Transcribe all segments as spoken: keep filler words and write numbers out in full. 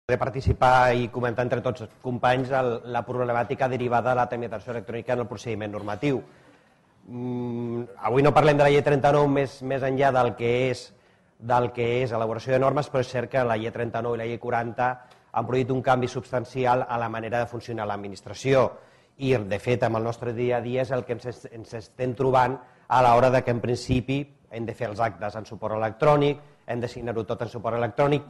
de participar i comentar entre tots els companys la problemàtica derivada de la tramitació electrònica en el procediment normatiu. Avui no parlem de la llei trenta-nou més enllà del que és del que és elaboració de normes, però és cert que la llei trenta-nou i la llei quaranta han produït un canvi substancial a la manera de funcionar l'administració i, de fet, amb el nostre dia a dia és el que ens estem trobant a l'hora que, en principi, hem de fer els actes en suport electrònic, hem de signar-ho tot en suport electrònic,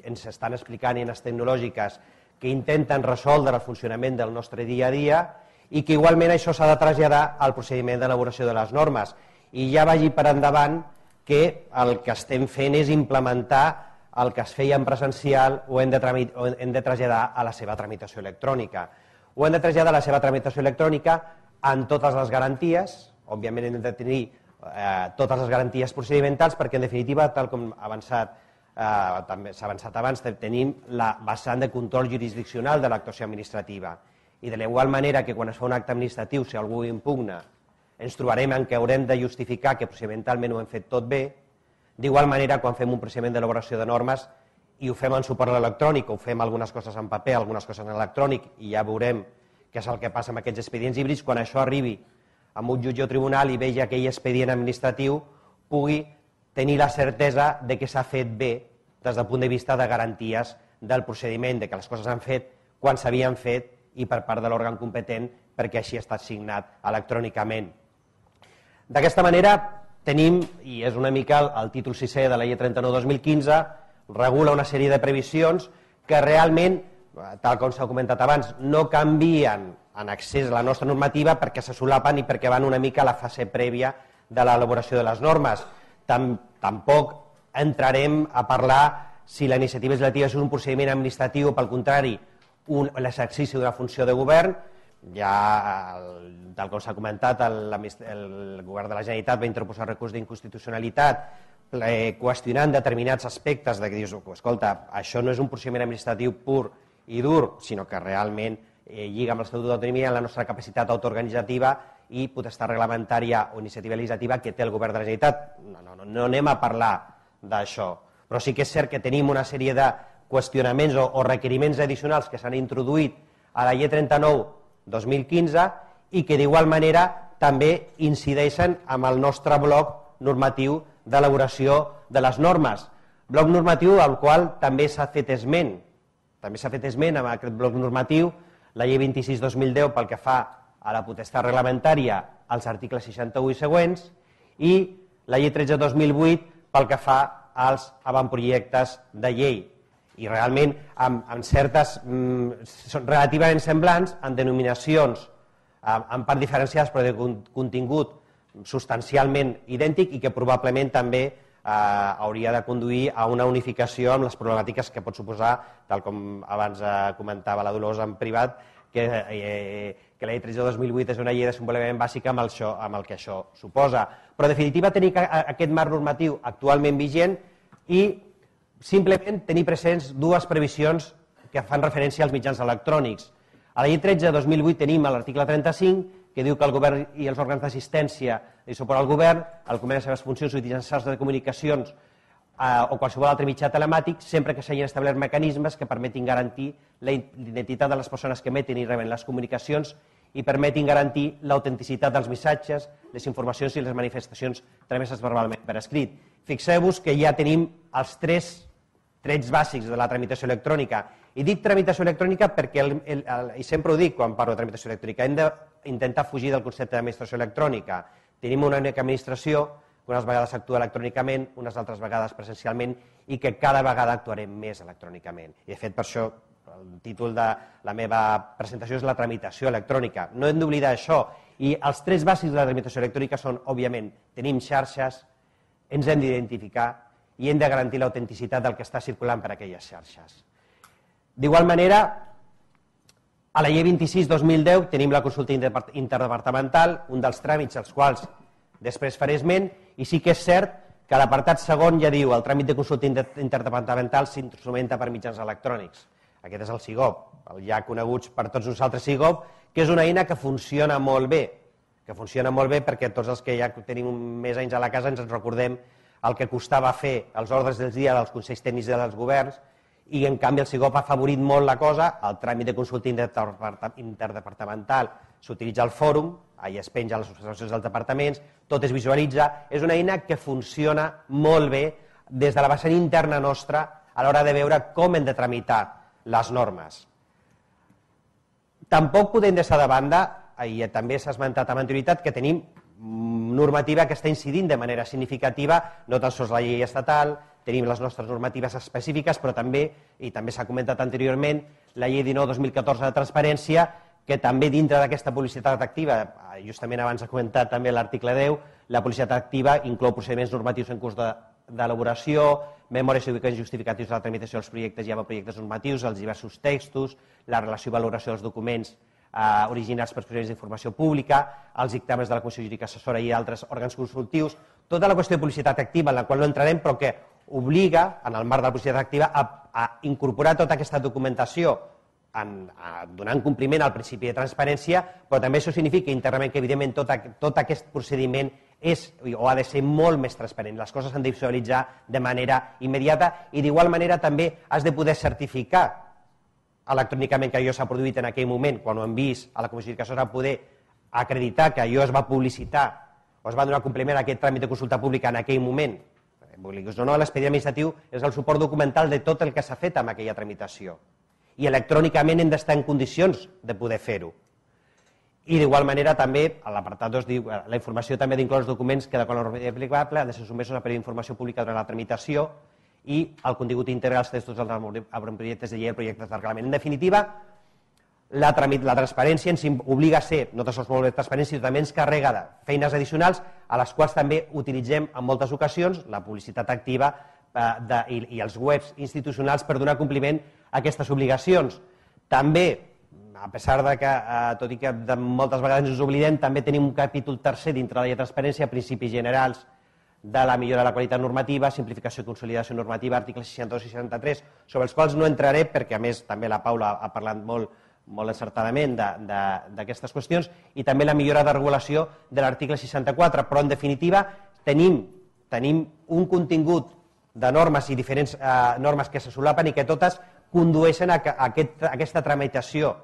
ens estan explicant eines tecnològiques que intenten resoldre el funcionament del nostre dia a dia i que igualment això s'ha de traslladar al procediment d'elaboració de les normes. I ja vagi per endavant que el que estem fent és implementar el que es feia en presencial ho hem de traslladar a la seva tramitació electrònica. Ho hem de traslladar a la seva tramitació electrònica amb totes les garanties, òbviament hem de tenir totes les garanties procedimentals perquè, en definitiva, tal com s'ha avançat abans, tenim la vessant de control jurisdiccional de l'actuació administrativa. I de l'igual manera que quan es fa un acte administratiu, si algú impugna, ens trobarem en què haurem de justificar que procedimentalment ho hem fet tot bé, d'igual manera quan fem un procediment d'elaboració de normes i ho fem en suport electrònic o ho fem algunes coses en paper, algunes coses en electrònic i ja veurem què és el que passa amb aquests expedients híbrids, quan això arribi amb un jutge o tribunal i vegi aquell expedient administratiu pugui tenir la certesa de que s'ha fet bé des del punt de vista de garanties del procediment, de que les coses s'han fet quan s'havien fet i per part de l'òrgan competent perquè així ha estat signat electrònicament. D'aquesta manera tenim, i és una mica el títol sisè de la llei trenta-nou dos mil quinze, regula una sèrie de previsions que realment, tal com s'ha comentat abans, no canvien en accés a la nostra normativa perquè se solapen i perquè van una mica a la fase prèvia de l'elaboració de les normes. Tampoc entrarem a parlar si la iniciativa legislativa és un procediment administratiu o, pel contrari, l'exercici d'una funció de govern. Ja, tal com s'ha comentat, el govern de la Generalitat va interposar recurs d'inconstitucionalitat qüestionant determinats aspectes de que dius, escolta, això no és un procediment administratiu pur i dur, sinó que realment lliga amb l'Estatut d'Autonomia, la nostra capacitat autoorganitzativa i potestat reglamentària o iniciativa legislativa que té el govern de la Generalitat. No anem a parlar d'això, però sí que és cert que tenim una sèrie de qüestionaments o requeriments addicionals que s'han introduït a la llei trenta-nou dos mil quinze i que d'igual manera també incideixen amb el nostre bloc normatiu d'elaboració de les normes. Bloc normatiu al qual també s'ha fet esment. També s'ha fet esment amb aquest bloc normatiu la llei vint-i-sis dos mil deu pel que fa a la potestat reglamentària als articles seixanta-u i següents i la llei tretze dos mil vuit pel que fa als avantprojectes de llei. I realment amb certes, són relativament semblants, en denominacions en part diferenciades però de contingut substancialment idèntic i que probablement també hauria de conduir a una unificació amb les problemàtiques que pot suposar, tal com abans comentava la Dolors en privat, que la llei tretze dos mil vuit és una llei de desenvolupament bàsica amb el que això suposa. Però, en definitiva, tenir aquest marc normatiu actualment vigent i simplement tenir presents dues previsions que fan referència als mitjans electrònics. A la llei tretze dos mil vuit tenim l'article trenta-cinc, que diu que el govern i els òrgans d'assistència i suport al govern, al compliment de les seves funcions utilitzant de comunicacions o qualsevol altre mitjà telemàtic, sempre que s'hagin establert mecanismes que permetin garantir la identitat de les persones que emeten i reben les comunicacions i permetin garantir l'autenticitat dels missatges, les informacions i les manifestacions trameses verbalment per escrit. Fixeu-vos que ja tenim els tres trets bàsics de la tramitació electrònica. I dic tramitació electrònica perquè, i sempre ho dic quan parlo de tramitació electrònica, hem d'intentar fugir del concepte d'administració electrònica. Tenim una única administració, unes vegades actua electrònicament, unes altres vegades presencialment, i que cada vegada actuarem més electrònicament. I, de fet, per això el títol de la meva presentació és la tramitació electrònica. No hem d'oblidar això. I els tres bàsics de la tramitació electrònica són, òbviament, tenim xarxes, ens hem d'identificar i hem de garantir l'autenticitat del que està circulant per aquelles xarxes. D'igual manera, a la llei vint-i-sis dos mil deu tenim la consulta interdepartamental, un dels tràmits als quals després faré esment, i sí que és cert que a l'apartat segon ja diu el tràmit de consulta interdepartamental s'instrumenta per mitjans electrònics. Aquest és el SIGOP, el ja conegut per tots nosaltres SIGOP, que és una eina que funciona molt bé, que funciona molt bé perquè tots els que ja tenim més anys a la casa ens en recordem el que costava fer els ordres del dia dels consells tècnics dels governs i en canvi el SIGOP ha afavorit molt la cosa, el tràmit de consulta interdepartamental s'utilitza el fòrum, allà es penja les observacions dels departaments, tot es visualitza, és una eina que funciona molt bé des de la vessant interna nostra a l'hora de veure com hem de tramitar les normes. Tampoc podem deixar de banda, i també s'ha esmentat amb anterioritat, que tenim normativa que està incidint de manera significativa, no tan sols la llei estatal, tenim les nostres normatives específiques, però també, i també s'ha comentat anteriorment, la llei dinou dos mil catorze de transparència, que també dintre d'aquesta publicitat activa, justament abans ha comentat també l'article deu, la publicitat activa inclou procediments normatius en curs d'elaboració, memòries i justificatius de la tramitació dels projectes i avantprojectes normatius, els diversos textos, la relació i valoració dels documents originats per procediments d'informació pública, els dictàmens de la Comissió Jurídica Assessora i altres òrgans consultius, tota la qüestió de publicitat activa en la qual no entrarem, però que obliga, en el marc de la publicitat activa, a incorporar tota aquesta documentació donant compliment al principi de transparència, però també això significa internament que, evidentment, tot aquest procediment és o ha de ser molt més transparent. Les coses s'han de visualitzar de manera immediata i, d'igual manera, també has de poder certificar electrònicament que allò s'ha produït en aquell moment, quan ho han vist a la Comissió Jurídica Assessora, poder acreditar que allò es va publicitar o es va donar compliment a aquest tràmit de consulta pública en aquell moment. L'expedient administratiu és el suport documental de tot el que s'ha fet amb aquella tramitació i electrònicament hem d'estar en condicions de poder fer-ho. I d'igual manera també, a l'apartat dos diu, la informació també d'inclòs els documents que de qual normativa aplicable han de ser sotmesos a període d'informació pública durant la tramitació i el contingut íntegre dels textos dels avantprojectes de llei i projectes de reglament. En definitiva, la transparència ens obliga a ser, no tan sols molt de transparència, sinó també ens carrega de feines addicionals a les quals també utilitzem en moltes ocasions la publicitat activa i els webs institucionals per donar compliment a aquestes obligacions. També, a pesar de que, tot i que moltes vegades ens oblidem, també tenim un capítol tercer dintre la llei de transparència, principis generals de la millora de la qualitat normativa, simplificació i consolidació normativa, articles seixanta-dos i seixanta-tres, sobre els quals no entraré perquè, a més, també la Paula ha parlat molt molt encertadament d'aquestes qüestions, i també la millora de regulació de l'article seixanta-quatre, però en definitiva tenim un contingut de normes i diferents normes que se solapen i que totes condueixen a aquesta tramitació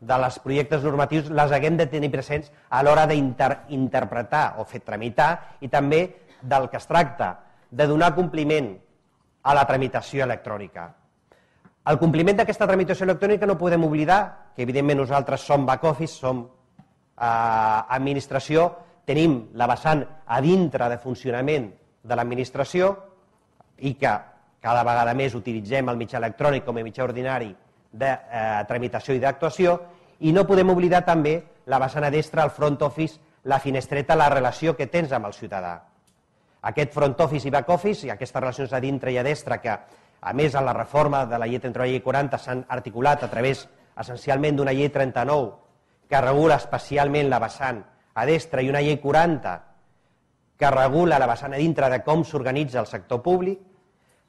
dels projectes normatius, les haguem de tenir presents a l'hora d'interpretar o fer tramitar i també del que es tracta, de donar compliment a la tramitació electrònica. El compliment d'aquesta tramitació electrònica no podem oblidar que, evidentment, nosaltres som back-office, som administració, tenim la vessant a dintre de funcionament de l'administració i que cada vegada més utilitzem el mitjà electrònic com a mitjà ordinari de tramitació i d'actuació, i no podem oblidar també la vessant a destra, el front office, la finestreta, la relació que tens amb el ciutadà. Aquest front office i back office i aquestes relacions a dintre i a destra que, a més, en la reforma de la llei trenta-nou i la llei quaranta s'han articulat a través, essencialment, d'una llei trenta-nou que regula especialment la vessant a destra i una llei quaranta que regula la vessant a dintre de com s'organitza el sector públic,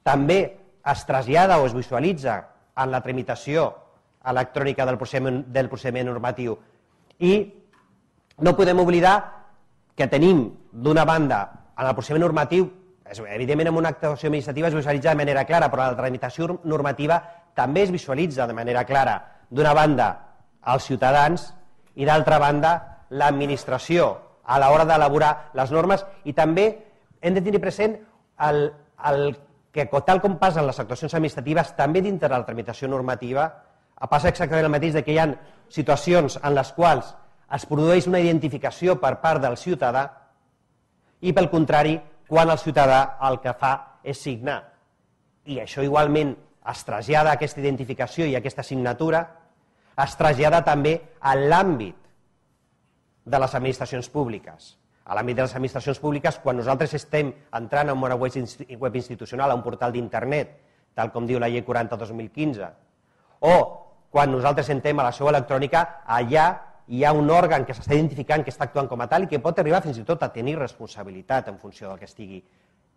també es trasllada o es visualitza en la tramitació electrònica del procediment normatiu. I no podem oblidar que tenim, d'una banda, en el procediment normatiu, evidentment en una actuació administrativa es visualitza de manera clara, però en la tramitació normativa també es visualitza de manera clara, d'una banda, els ciutadans i d'altra banda, l'administració a l'hora d'elaborar les normes, i també hem de tenir present el que, tal com passen les actuacions administratives, també dintre de la tramitació normativa passa exactament el mateix, que hi ha situacions en les quals es produeix una identificació per part del ciutadà i, pel contrari, quan el ciutadà el que fa és signar. I això igualment es trasllada aquesta identificació i aquesta signatura, es trasllada també a l'àmbit de les administracions públiques. A l'àmbit de les administracions públiques, quan nosaltres estem entrant en una web institucional, a un portal d'internet, tal com diu la llei quaranta dos mil quinze, o quan nosaltres entrem a la seu electrònica, allà hi ha un òrgan que s'està identificant, que està actuant com a tal i que pot arribar fins i tot a tenir responsabilitat en funció del que estigui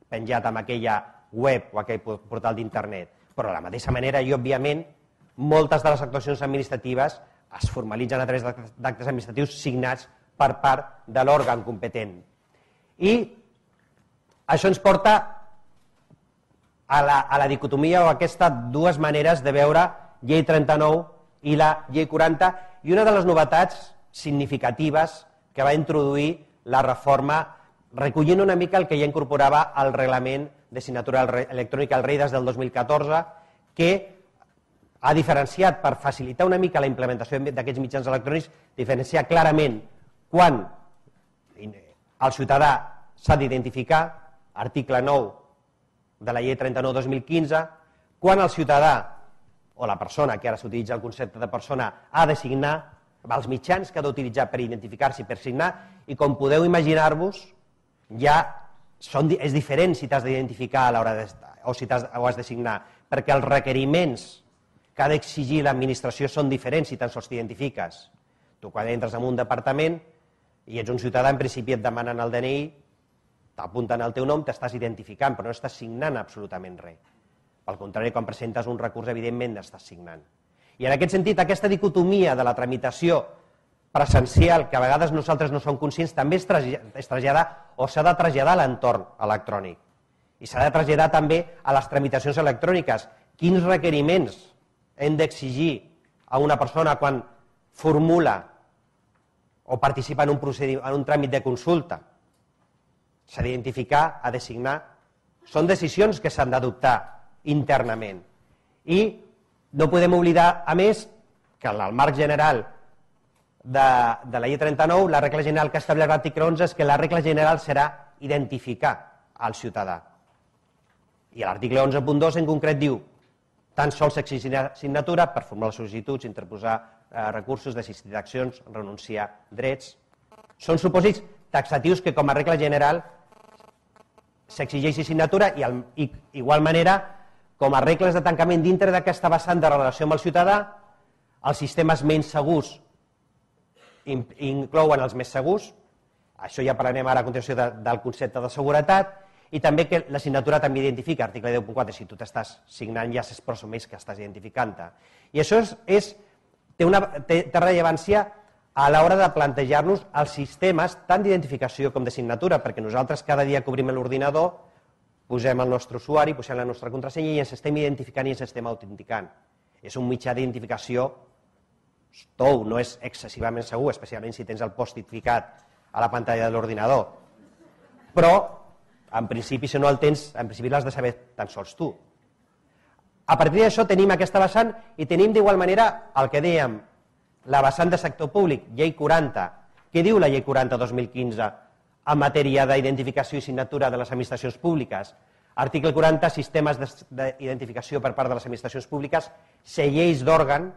penjat en aquella web o aquell portal d'internet. Però de la mateixa manera i, òbviament, moltes de les actuacions administratives es formalitzen a través d'actes administratius signats per part de l'òrgan competent. I això ens porta a la, a la dicotomia o a aquestes dues maneres de veure llei trenta-nou i la llei quaranta, i una de les novetats significatives que va introduir la reforma, recollint una mica el que ja incorporava el reglament de signatura electrònica al rei des del dos mil catorze, que ha diferenciat, per facilitar una mica la implementació d'aquests mitjans electrònics, diferenciar clarament quan el ciutadà s'ha d'identificar, article nou de la llei trenta-nou dos mil quinze, quan el ciutadà o la persona, que ara s'utilitza el concepte de persona, ha de signar, els mitjans que ha d'utilitzar per identificar-se i per signar, i com podeu imaginar-vos, ja són, és diferent si t'has d'identificar a l'hora de, o si has, o has de signar, perquè els requeriments que ha d'exigir l'administració són diferents si tan sols t'identifiques. Tu quan entres en un departament i ets un ciutadà, en principi et demanen el D N I, t'apunten el teu nom, t'estàs identificant, però no estàs signant absolutament res. Pel contrari, quan presentes un recurs, evidentment estàs signant. I en aquest sentit, aquesta dicotomia de la tramitació presencial, que a vegades nosaltres no som conscients, també es trasllada o s'ha de traslladar a l'entorn electrònic. I s'ha de traslladar també a les tramitacions electròniques. Quins requeriments hem d'exigir a una persona quan formula o participa en un, en un tràmit de consulta? S'ha d'identificar, ha de signar. Són decisions que s'han d'adoptar internament. I no podem oblidar, a més, que en el marc general de, de la llei trenta-nou, la regla general que estableix l'article onze és que la regla general serà identificar al ciutadà. I l'article onze punt dos en concret diu tan sols exigirà signatura per formular sol·licituds, interposar eh, recursos, desistir d'accions, renunciar drets. Són supòsits taxatius que com a regla general s'exigeixi signatura i, al, i igual manera com a regles de tancament dintre d'aquesta vessant de relació amb el ciutadà, els sistemes menys segurs inclouen els més segurs, això ja parlarem ara a continuació de, del concepte de seguretat, i també que la signatura també identifica, article deu punt quatre, si tu t'estàs signant ja s'és presumeix que estàs identificant-te. I això és, és, té, una, té, té rellevància a l'hora de plantejar-nos els sistemes tant d'identificació com de signatura, perquè nosaltres cada dia que obrim l'ordinador posem el nostre usuari, posem la nostra contrasenya i ens estem identificant i ens estem autenticant. És un mitjà d'identificació tou, no és excessivament segur, especialment si tens el post-it ficat a la pantalla de l'ordinador. Però, en principi, si no el tens, en principi l'has de saber tan sols tu. A partir d'això tenim aquesta vessant i tenim d'igual manera el que dèiem, la vessant de sector públic, llei quaranta. Què diu la llei quaranta dos mil quinze en matèria d'identificació i signatura de les administracions públiques? Article quaranta, sistemes d'identificació per part de les administracions públiques, cellers d'òrgan,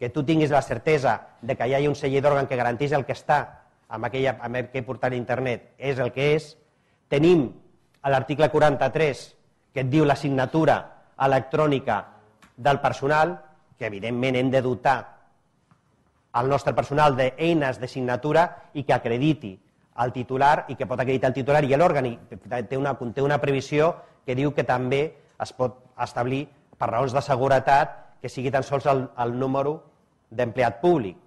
que tu tinguis la certesa de que hi ha un celler d'òrgan que garanteix el que està amb aquell portal d'internet és el que és. Tenim a l'article quaranta-tres que et diu la signatura electrònica del personal, que evidentment hem de dotar el nostre personal d'eines de signatura i que acrediti el titular i que pot acreditar el titular i l'òrgan. Té una, té una previsió que diu que també es pot establir per raons de seguretat que sigui tan sols el, el número d'empleat públic.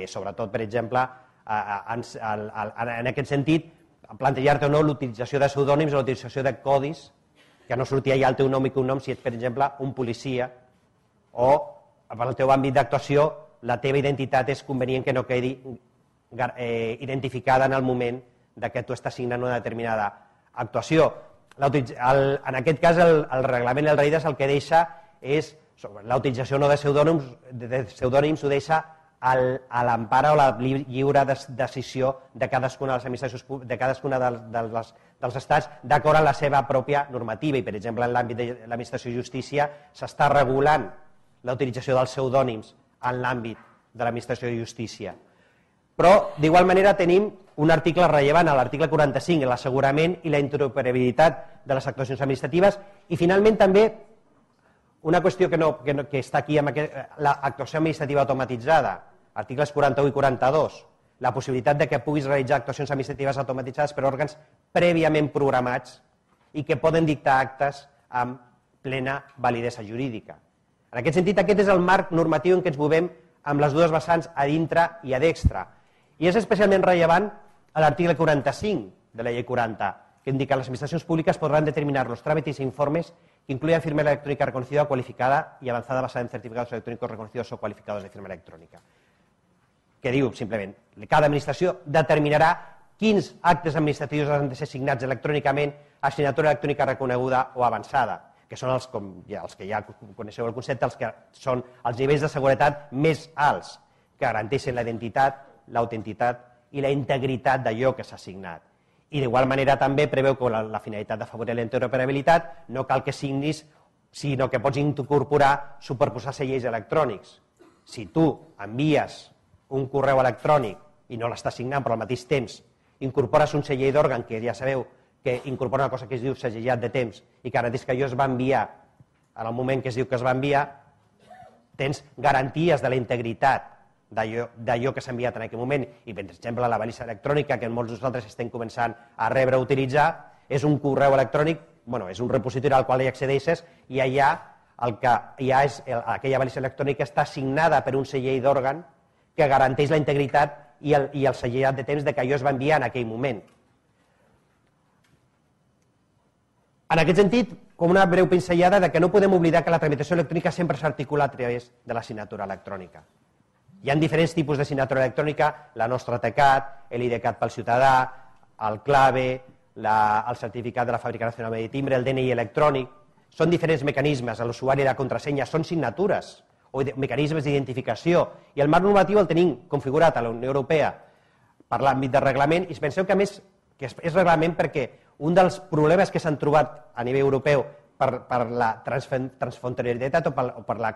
Sobretot, per exemple, en, en aquest sentit, plantejar-te o no l'utilització de pseudònims o l'utilització de codis, que no surti allà el teu nom i cognom si ets, per exemple, un policia o per el teu àmbit d'actuació la teva identitat és convenient que no quedi eh, identificada en el moment de que tu estàs signant una determinada actuació. El, en aquest cas, el, el reglament del REIDAS el que deixa és la utilització no de pseudònims, de pseudònims ho deixa al, a l'empara o la lliure decisió de cadascuna de les administracions de cadascuna de, de les, dels estats d'acord amb la seva pròpia normativa. I, per exemple, en l'àmbit de l'administració de justícia s'està regulant la utilització dels pseudònims en l'àmbit de l'administració de justícia. Però, d'igual manera, tenim un article rellevant, l'article quaranta-cinc, l'assegurament i la interoperabilitat de les actuacions administratives, i finalment també una qüestió que, no, que, no, que està aquí, amb aquest, l'actuació administrativa automatitzada, articles quaranta-u i quaranta-dos, la possibilitat de que puguis realitzar actuacions administratives automatitzades per òrgans prèviament programats i que poden dictar actes amb plena validesa jurídica. En aquest sentit, aquest és el marc normatiu en què ens movem amb les dues vessants a dintre i a d'extra. I és especialment rellevant a l'article quaranta-cinc de la llei quaranta, que indica las administraciones públicas podrán determinar los trámites e informes que incluyan firma electrónica reconocida o cualificada y avanzada basada en certificados electrónicos reconocidos o cualificados de firma electrònica. Que diu, simplement, cada administració determinarà quins actes administratius han de ser signats electrònicament a signatura electrònica reconeguda o avançada, que són els, com ja, els que ja coneixeu el concepte, els que són els nivells de seguretat més alts, que garanteixen la identitat, l'autentitat i la integritat d'allò que s'ha signat. I d'igual manera també preveu que la, la finalitat d'afavorir la interoperabilitat no cal que signis, sinó que pots incorporar, superposar seients electrònics. Si tu envies un correu electrònic i no l'estàs signant, però al mateix temps incorpores un segell d'òrgan, que ja sabeu que incorpora una cosa que es diu segellat de temps i que garanteix que allò es va enviar en el moment que es diu que es va enviar, tens garanties de la integritat d'allò que s'ha enviat en aquell moment. I, per exemple, la balisa electrònica, que molts de nosaltres estem començant a rebre o utilitzar, és un correu electrònic, bueno, és un repositori al qual hi accedeixes i allà el que hi ha és, aquella balisa electrònica està signada per un segell d'òrgan que garanteix la integritat i el, i el segellat de temps de que allò es va enviar en aquell moment. En aquest sentit, com una breu pinzellada de que no podem oblidar que la tramitació electrònica sempre s'articula a través de la signatura electrònica. Hi ha diferents tipus de signatura electrònica, la nostra TECAT, l'IDCAT pel ciutadà, el clave, la, el certificat de la Fàbrica Nacional de Timbre, el D N I electrònic. Són diferents mecanismes, l'usuari i la contrasenya, són signatures o mecanismes d'identificació. I el marc normatiu el tenim configurat a la Unió Europea per l'àmbit de reglament i penseu que, a més, que és reglament perquè un dels problemes que s'han trobat a nivell europeu per, per la transfronteralitat o per, o per la,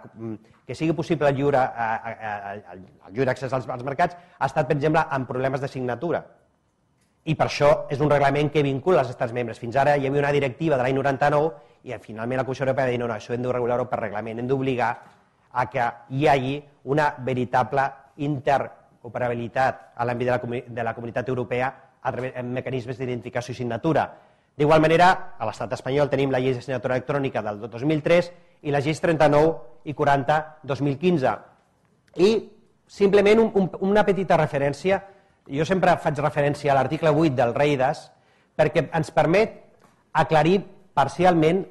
que sigui possible el lliure, el lliure accés als, als mercats ha estat, per exemple, amb problemes de signatura. I per això és un reglament que vincula els estats membres. Fins ara hi havia una directiva de l'any noranta-nou i finalment la Comissió Europea va dir no, no, això hem de regular-ho per reglament, hem d'obligar a que hi hagi una veritable interoperabilitat a l'àmbit de, la, de la comunitat europea a través de mecanismes d'identificació i signatura. D'igual manera, a l'estat espanyol tenim la llei de signatura electrònica del dos mil tres i les lleis trenta-nou i quaranta dos mil quinze. I simplement un, un, una petita referència, jo sempre faig referència a l'article vuit del REIDAS perquè ens permet aclarir parcialment,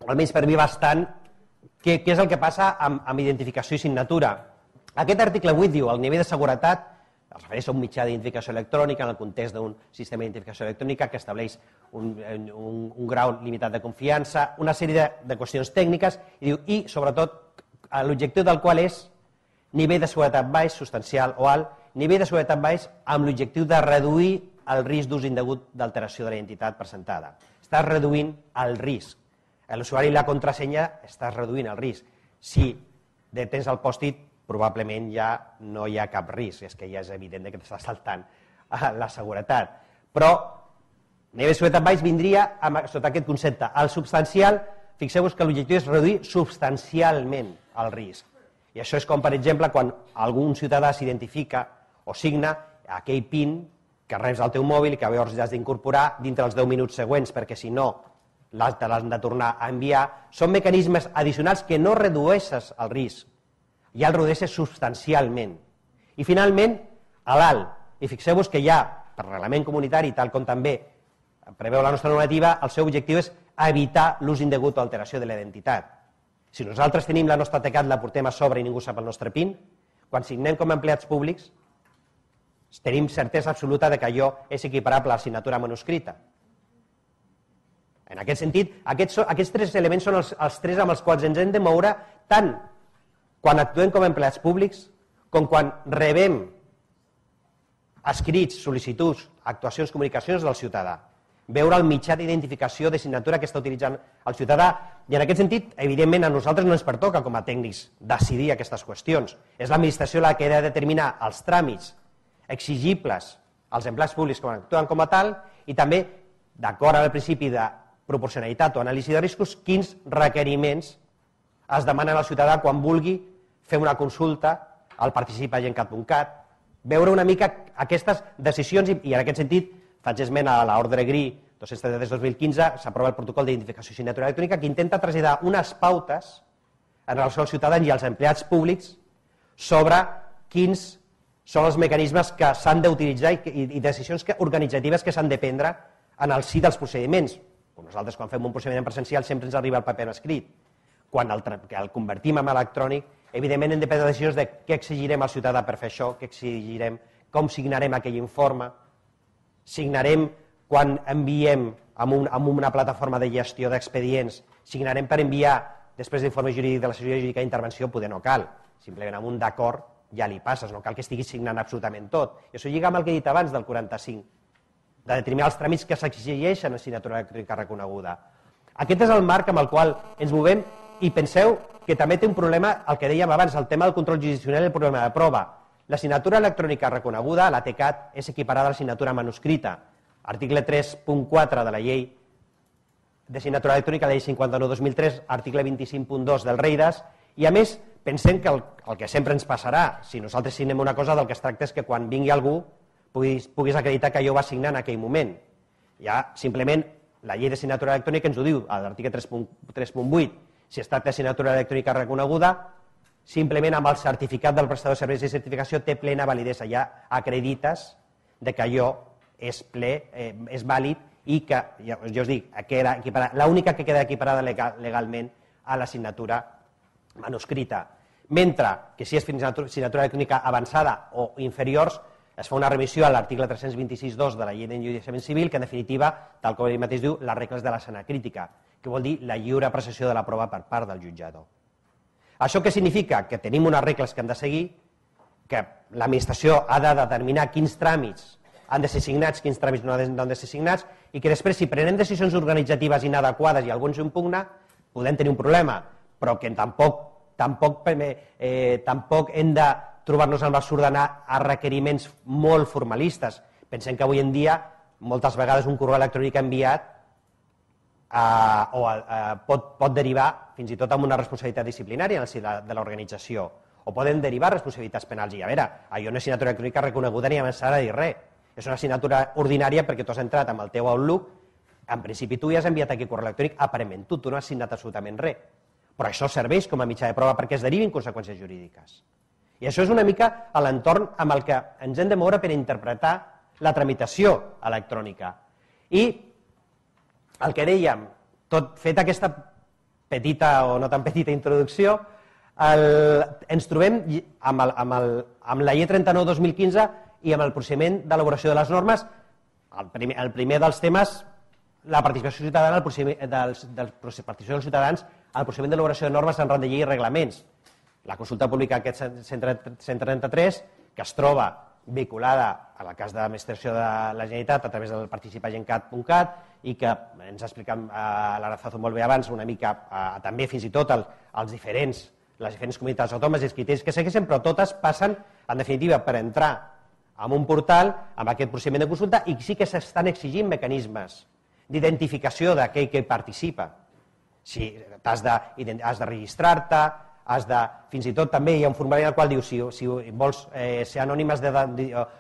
almenys per mi bastant, què, què és el que passa amb, amb identificació i signatura. Aquest article vuit diu el nivell de seguretat es refereix a un mitjà d'identificació electrònica en el context d'un sistema d'identificació electrònica que estableix un, un, un grau limitat de confiança, una sèrie de, de qüestions tècniques i, diu, i sobretot l'objectiu del qual és nivell de seguretat baix, substancial o alt, nivell de seguretat baix amb l'objectiu de reduir el risc d'ús indegut d'alteració de la identitat presentada. Estàs reduint el risc. L'usuari i la contrasenya estàs reduint el risc. Si tens el pòst-it, probablement ja no hi ha cap risc, és que ja és evident que t'està saltant la seguretat. Però nivell de seguretat baix vindria sota aquest concepte. El substancial, fixeu-vos que l'objectiu és reduir substancialment el risc. I això és com, per exemple, quan algun ciutadà s'identifica o signa aquell PIN que reps al teu mòbil i que llavors ja has d'incorporar dintre els deu minuts següents, perquè si no te l'has de tornar a enviar. Són mecanismes addicionals que no redueixes el risc, ja el redueixes substancialment. I finalment, a l'alt. I fixeu-vos que ja, per reglament comunitari, tal com també preveu la nostra normativa, el seu objectiu és evitar l'ús indegut o alteració de la identitat. Si nosaltres tenim la nostra TECAT, la portem a sobre i ningú sap el nostre PIN, quan signem com a empleats públics, tenim certesa absoluta que allò és equiparable a la signatura manuscrita. En aquest sentit, aquests, aquests tres elements són els, els tres amb els quals ens hem de moure tant quan actuem com a empleats públics com quan rebem escrits, sol·licituds, actuacions, comunicacions del ciutadà. Veure el mitjà d'identificació de signatura que està utilitzant el ciutadà. I en aquest sentit, evidentment, a nosaltres no ens pertoca com a tècnics decidir aquestes qüestions. És l'administració la que ha de determinar els tràmits exigibles als empleats públics que actuen com a tal i també, d'acord amb el principi de proporcionalitat o anàlisi de riscos, quins requeriments es demanen al ciutadà quan vulgui fer una consulta al participagencat punt cat, veure una mica aquestes decisions i en aquest sentit faig esment a l'ordre G R I dos-cents trenta-tres dos mil quinze, s'aprova el protocol d'identificació i signatura electrònica que intenta traslladar unes pautes en relació als ciutadans i als empleats públics sobre quins són els mecanismes que s'han d'utilitzar i decisions organitzatives que s'han de prendre en el si dels procediments. Nosaltres, quan fem un procediment presencial, sempre ens arriba el paper escrit. Quan el convertim en electrònic, evidentment hem de prendre decisions de què exigirem al ciutadà per fer això, què exigirem, com signarem aquell informe, signarem quan enviem amb una plataforma de gestió d'expedients, signarem per enviar després d'informe jurídic de la sessió jurídica d'intervenció, poder no cal, simplement amb un d'acord ja li passes, no cal que estiguis signant absolutament tot. I això lliga amb el que he dit abans del quaranta-cinc, de determinar els tràmits que s'exigeixen a signatura electrònica reconeguda. Aquest és el marc amb el qual ens movem i penseu que també té un problema, el que dèiem abans, el tema del control jurisdiccional i el problema de prova. La signatura electrònica reconeguda, la T C A T, és equiparada a la signatura manuscrita. Article tres punt quatre de la llei de signatura electrònica, la llei cinquanta-nou dos mil tres, article vint-i-cinc punt dos del REIDAS, i a més pensem que el, el que sempre ens passarà, si nosaltres signem una cosa, del que es tracta és que quan vingui algú puguis, puguis acreditar que allò va signar en aquell moment. Ja simplement la llei de signatura electrònica ens ho diu, a l'article tres punt vuit, si es tracta de signatura electrònica reconeguda, simplement amb el certificat del prestador de serveis de certificació té plena validesa, ja acredites de que allò és ple, eh, és vàlid i que, ja, jo us dic, l'única que queda equiparada legal, legalment a la signatura manuscrita. Mentre que si és signatura electrònica avançada o inferiors, es fa una revisió a l'article tres-cents vint-i-sis punt dos de la llei d'enjudiciament civil, que en definitiva, tal com ell mateix diu, les regles de la sana crítica, que vol dir la lliure apreciació de la prova per part del jutjador. Això què significa? Que tenim unes regles que han de seguir, que l'administració ha de determinar quins tràmits han de ser signats, quins tràmits no han de ser signats, i que després, si prenem decisions organitzatives inadequades i algú ens impugna, podem tenir un problema, però que tampoc, tampoc, eh, tampoc hem de trobar-nos amb l'absurd d'anar a requeriments molt formalistes. Pensem que avui en dia, moltes vegades, un correu electrònic enviat eh, o, eh, pot, pot derivar fins i tot amb una responsabilitat disciplinària en el si de, de l'organització, o poden derivar responsabilitats penals. I a veure, allò no és signatura electrònica reconeguda ni avançada a dir res. És una signatura ordinària perquè tu has entrat amb el teu Outlook, en principi tu ja has enviat aquí correu electrònic, aparentment tu, tu no has signat absolutament res. Però això serveix com a mitjà de prova perquè es derivin conseqüències jurídiques. I això és una mica a l'entorn amb el que ens hem de moure per interpretar la tramitació electrònica. I el que dèiem, tot fet aquesta petita o no tan petita introducció, el, ens trobem amb, el, amb, el, amb la llei trenta-nou dos mil quinze i amb el procediment d'elaboració de les normes, el primer, el primer dels temes, la participació ciutadana, el procediment dels, dels, participació dels ciutadans al procediment d'elaboració de normes en rang de llei i reglaments. La consulta pública aquest cent trenta-tres, que es troba vinculada a la cas d'administració de la Generalitat a través del participagencat punt cat i que ens ha explicat l'Arazazo molt bé abans una mica també fins i tot els diferents, les diferents comunitats autònomes i els criteris que segueixen, però totes passen en definitiva per entrar en un portal amb aquest procediment de consulta i sí que s'estan exigint mecanismes d'identificació d'aquell que participa. Si has de, has de registrar-te, has de, fins i tot també hi ha un formulari en el qual diu si, si vols eh, ser anònim, has de,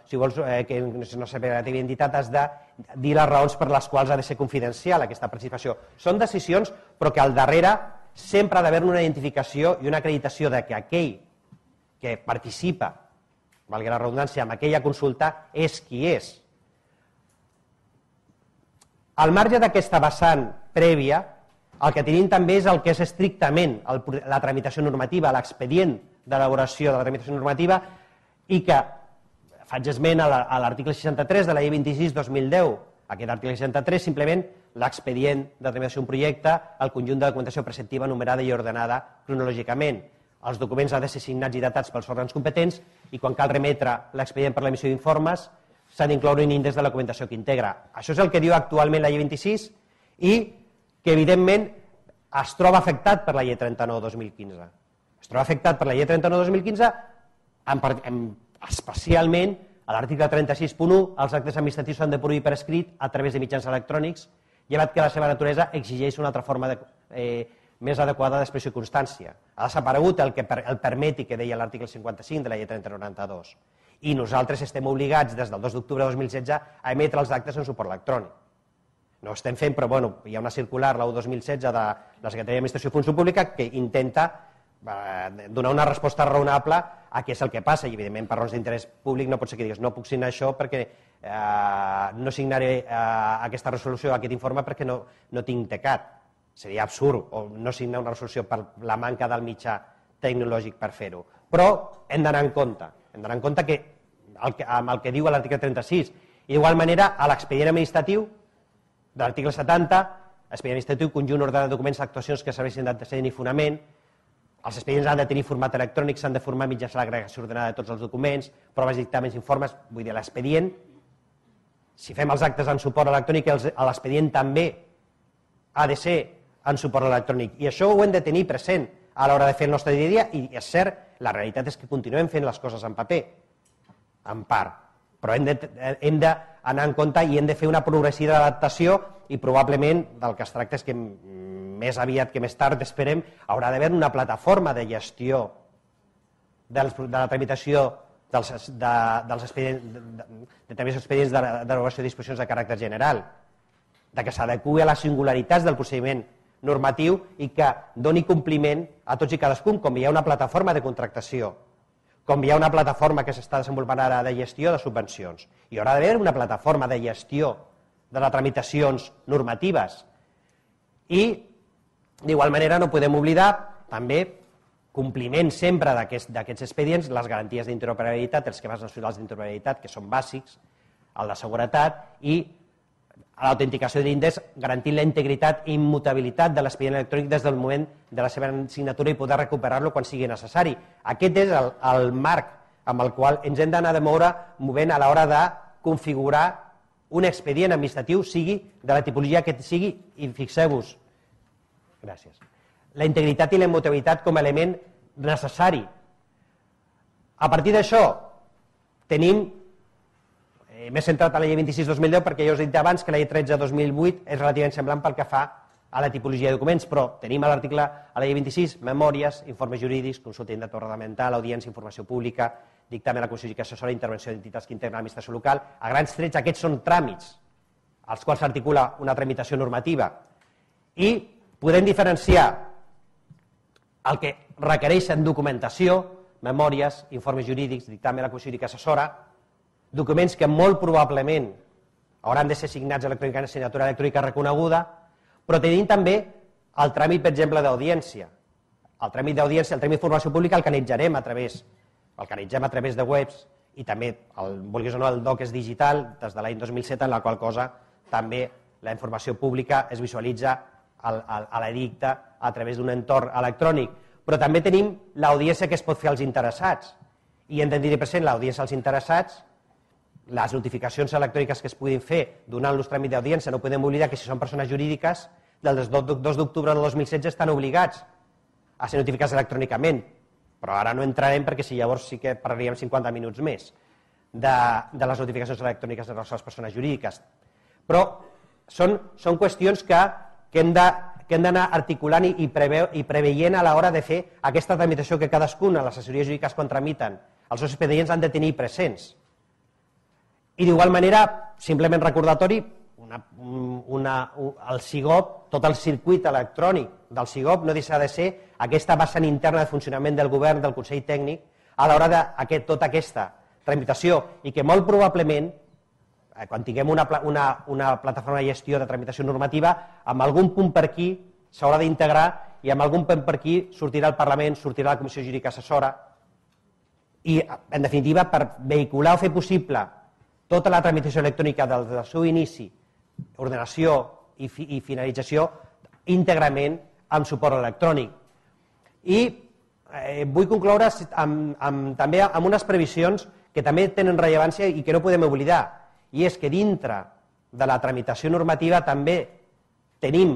si vols eh, que no sé per la teva identitat, has de dir les raons per les quals ha de ser confidencial aquesta participació. Són decisions, però que al darrere sempre ha d'haver una identificació i una acreditació de que aquell que participa, valgui la redundància, amb aquella consulta és qui és. Al marge d'aquesta vessant prèvia, el que tenim també és el que és estrictament el, la tramitació normativa, l'expedient d'elaboració de la tramitació normativa i que faig esment a l'article seixanta-tres de la llei vint-i-sis dos mil deu. Aquest article seixanta-tres simplement l'expedient de tramitació d'un projecte, el conjunt de documentació preceptiva numerada i ordenada cronològicament. Els documents han de ser signats i datats pels òrgans competents i quan cal remetre l'expedient per l'emissió d'informes s'ha d'incloure un índex de la documentació que integra. Això és el que diu actualment la llei vint-i-sis i que evidentment es troba afectat per la llei trenta-nou dos mil quinze. Es troba afectat per la llei trenta-nou dos mil quinze, especialment a l'article trenta-sis punt u, els actes administratius s'han de prohibir per escrit a través de mitjans electrònics, llevat que la seva naturalesa exigeix una altra forma de, eh, més adequada d'expressió i constància. Ha desaparegut el que per, el permeti que deia l'article cinquanta-cinc de la llei trenta noranta-dos. I nosaltres estem obligats des del dos d'octubre de dos mil setze a emetre els actes en suport electrònic. No ho estem fent, però bueno, hi ha una circular, la u dos mil setze, de la Secretaria d'Administració i Funció Pública, que intenta donar una resposta raonable a què és el que passa, i evidentment per raons d'interès públic no pot ser que digues no puc signar això perquè no signaré aquesta resolució, aquest informe, perquè no tinc tecat. Seria absurd, o no signar una resolució per la manca del mitjà tecnològic per fer-ho. Però hem d'anar en compte, hem d'anar en compte que amb el que diu l'article trenta-sis, i d'igual manera a l'expedient administratiu de l'article setanta, expedient administratiu, conjunt ordenat de documents, actuacions que serveixin d'antecedent i fonament, els expedients han de tenir format electrònic, s'han de formar mitjançant l'agregació ordenada de tots els documents, proves, dictàmens, informes, vull dir, l'expedient, si fem els actes en suport electrònic, l'expedient també ha de ser en suport electrònic. I això ho hem de tenir present a l'hora de fer el nostre dia a dia, i és cert, la realitat és que continuem fent les coses en paper, en part, però hem d'anar en compte i hem de fer una progressiva adaptació, i probablement del que es tracta és que més aviat que més tard, esperem, haurà d'haver una plataforma de gestió de la tramitació dels expedients de derogació de disposicions de caràcter general, que s'adequi a les singularitats del procediment normatiu i que doni compliment a tots i cadascun, com hi ha una plataforma de contractació, com hi ha una plataforma que s'està desenvolupant ara de gestió de subvencions. Hi haurà d'haver una plataforma de gestió de les tramitacions normatives. I, d'igual manera, no podem oblidar també compliment sempre d'aquests expedients, les garanties d'interoperabilitat, els esquemes nacionals d'interoperabilitat, que són bàsics, el de seguretat, i l'autenticació de l'índex garantint la integritat i immutabilitat de l'expedient electrònic des del moment de la seva signatura i poder recuperar-lo quan sigui necessari. Aquest és el marc amb el qual ens hem d'anar de moure movent a l'hora de configurar un expedient administratiu, sigui de la tipologia que sigui, i fixeu-vos, gràcies, la integritat i la immutabilitat com a element necessari. A partir d'això, tenim, m'he centrat a la llei vint-i-sis dos mil deu perquè ja us he dit abans que la llei tretze dos mil vuit és relativament semblant pel que fa a la tipologia de documents, però tenim a l'article, a la llei vint-i-sis, memòries, informes jurídics, consulta interprofessional, audiència, informació pública, dictamen a la Comissió Jurídica Assessora, intervenció d'entitats que integren l'administració local. A grans trets, aquests són tràmits als quals s'articula una tramitació normativa, i podem diferenciar el que requereixen documentació, memòries, informes jurídics, dictamen a la Comissió Jurídica Assessora, documents que molt probablement hauran de ser signats electrònicament en signatura electrònica reconeguda, però tenim també el tràmit, per exemple, d'audiència. El tràmit d'audiència, el tràmit d'informació pública, el canalitzarem a través, el canalitzem a través de webs, i també, vulguis o no, el doc és digital des de l'any dos mil set, en la qual cosa també la informació pública es visualitza a l'edicte a través d'un entorn electrònic. Però també tenim l'audiència que es pot fer als interessats, i hem de tenir present l'audiència als interessats, les notificacions electròniques que es puguin fer donant-los tràmit d'audiència. No podem oblidar que si són persones jurídiques, del dos d'octubre del dos mil setze estan obligats a ser notificats electrònicament, però ara no entrarem perquè si llavors sí que parlaríem cinquanta minuts més de les notificacions electròniques de les persones jurídiques. Però són qüestions que hem d'anar articulant i preveient a l'hora de fer aquesta tramitació que cadascuna, les assessories jurídiques quan tramiten, els seus expedients han de tenir presents. I d'igual manera, simplement recordatori, el SIGOP, tot el circuit electrònic del SIGOP no deixa de ser aquesta vessant interna de funcionament del govern, del Consell Tècnic, a l'hora de tota aquesta tramitació, i que molt probablement, quan tinguem una plataforma de gestió de tramitació normativa, amb algun punt per aquí s'haurà d'integrar, i amb algun punt per aquí sortirà el Parlament, sortirà la Comissió Jurídica Assessora, i, en definitiva, per vehicular o fer possible tota la tramitació electrònica del seu inici, ordenació i finalització íntegrament amb suport electrònic. I vull concloure també amb unes previsions que també tenen rellevància i que no podem oblidar, i és que dintre de la tramitació normativa també tenim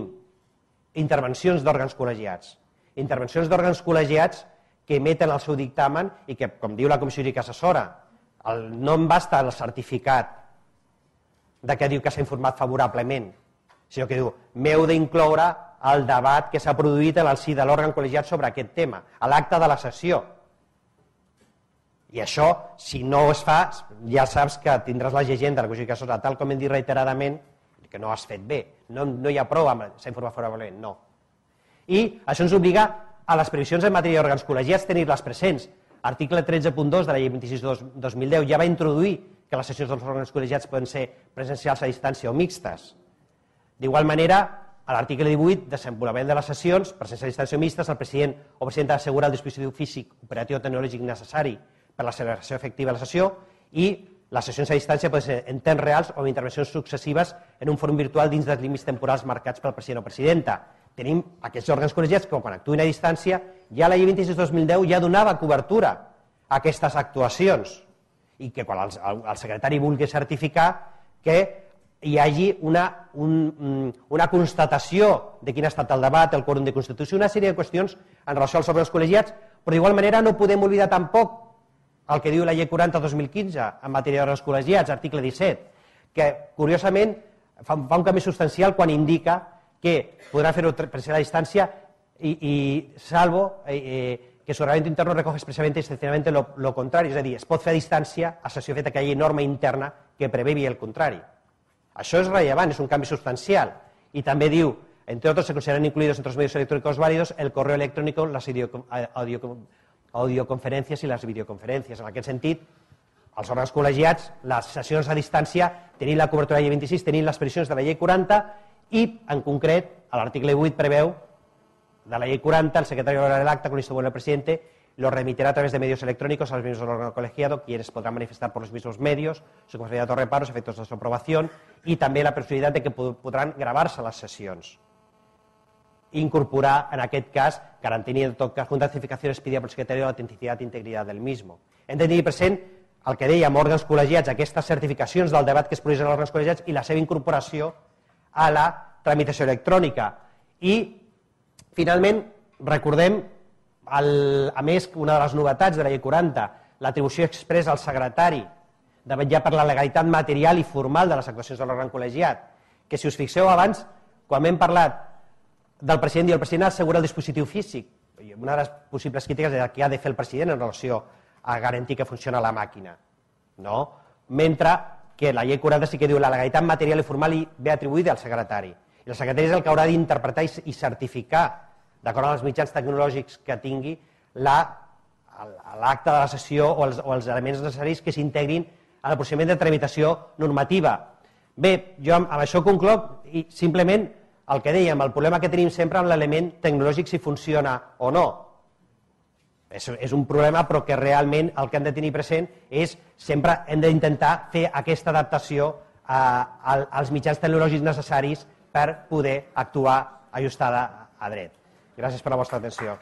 intervencions d'òrgans col·legiats, intervencions d'òrgans col·legiats que emeten el seu dictamen i que, com diu la Comissió Jurídica Assessora, no em basta el certificat que diu que s'ha informat favorablement, sinó que diu, m'heu d'incloure el debat que s'ha produït en el si de l'òrgan col·legiat sobre aquest tema, a l'acte de la sessió. I això, si no es fa, ja saps que tindràs la llegenda de la Comissió Jurídica Assessora, tal com hem dit reiteradament, que no has fet bé, no hi ha prou amb s'ha informat favorablement, no. I això ens obliga a les previsions en matèria d'òrgans col·legiats tenir-les presents. Article tretze punt dos de la llei vint-i-sis dos mil deu ja va introduir que les sessions dels òrgans col·legiats poden ser presencials a distància o mixtes. D'igual manera, a l'article divuit, desenvolupament de les sessions, presencials a distància o mixtes, el president o presidenta assegura el dispositiu físic, operatiu o tecnològic necessari per a la celebració efectiva de la sessió i les sessions a distància poden ser en temps reals o amb intervencions successives en un fòrum virtual dins dels límits temporals marcats pel president o presidenta. Tenim aquests òrgans col·legiats que quan actuïn a distància, ja la llei vint-i-sis dos mil deu ja donava cobertura a aquestes actuacions i que quan el, el secretari vulgui certificar que hi hagi una, un, una constatació de quin ha estat el debat, el quòrum de constitució, una sèrie de qüestions en relació als òrgans col·legiats, però d'igual manera no podem oblidar tampoc el que diu la llei quaranta dos mil quinze en matèria d'òrgans col·legiats, article disset, que curiosament fa, fa un canvi substancial quan indica que podrà fer-ho presencial a distància i, i salvo eh, eh, que su reglamento interno recoge expresamente y excepcionalmente lo, lo contrario, és a dir, es pot fer a distància a sessió feta que hi hagi norma interna que prevevi el contrari. Això és rellevant, és un canvi substancial. I també diu, entre otros, se consideran incluidos entre los medios electrónicos válidos el correo electrónico, las audioconferències i les videoconferències. En aquest sentit, els òrgans col·legiats, les sessions a distància, tenint la cobertura de la llei vint-i-sis, tenint les previsions de la llei quaranta i, en concret, a l'article vuit preveu de la llei quaranta, el secretario hará el acta con el visto bueno del presidente, lo remitirá a través de medios electrónicos a los miembros del órgano colegiado, quienes podrán manifestar por los mismos medios su conformidad o reparos, efectos de su aprobación, y també la possibilitat de que podran gravar-se les sessions. Incorporar, en aquest cas, garantint en tot cas una certificació expedida por el secretario de la autenticidad e integridad del mismo. Hem de tenir present el que dèiem, òrgans col·legiats, aquestes certificacions del debat que es produeixen als òrgans col·legiats i la seva incorporació a la tramitació electrònica. I, finalment, recordem, el, a més, una de les novetats de la llei quaranta, l'atribució expressa al secretari de vetllar per la legalitat material i formal de les actuacions de l'òrgan col·legiat, que si us fixeu abans, quan hem parlat del president i el president assegura el dispositiu físic, una de les possibles crítiques és el que ha de fer el president en relació a garantir que funciona la màquina, no? Mentre que la llei quaranta sí que diu la legalitat material i formal i ve atribuïda al secretari. I el secretari és el que haurà d'interpretar i certificar, d'acord amb els mitjans tecnològics que tingui, l'acte de la sessió o els, o els elements necessaris que s'integrin en el procediment de tramitació normativa. Bé, jo amb, amb això concloc i simplement el que dèiem, el problema que tenim sempre amb l'element tecnològic si funciona o no. És, és un problema però que realment el que hem de tenir present és sempre hem d'intentar fer aquesta adaptació a, a, als mitjans tecnològics necessaris per poder actuar ajustada a dret. Gràcies per la vostra atenció.